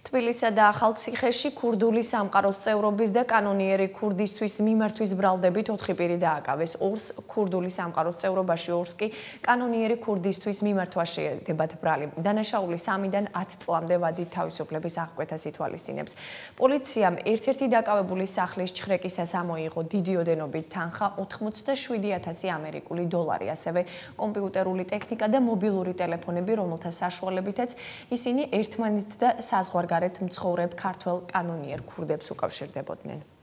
თბილისსა და ახალციხეში ქურდული სამყაროს წევრობის და კანონიერი ქურდისთვის მიმართვის ბრალდებით 4 პირი დააკავეს. 2-ს ქურდული სამყაროს წევრობაში, 2-ს კი კანონიერი ქურდისთვის მიმართვა შეედებათ ბრალი. დანაშაული 3-დან 10 წლამდე ვადით თავისუფლების აღკვეთას ითვალისწინებს. პოლიციამ ერთ-ერთი დაკავებული სახლის ჩხრეკისას ამოიღო დიდი ოდენობით თანხა 87,000 ამერიკული დოლარი, ასევე კომპიუტერული ტექნიკა და მობილური ტელეფონები, რომელთა საშუალებითაც ისინი ერთმანეთს და საზღვარგარეთ მცხოვრებ ქართველ კანონიერ ქურდებს უკავშირდებოდნენ.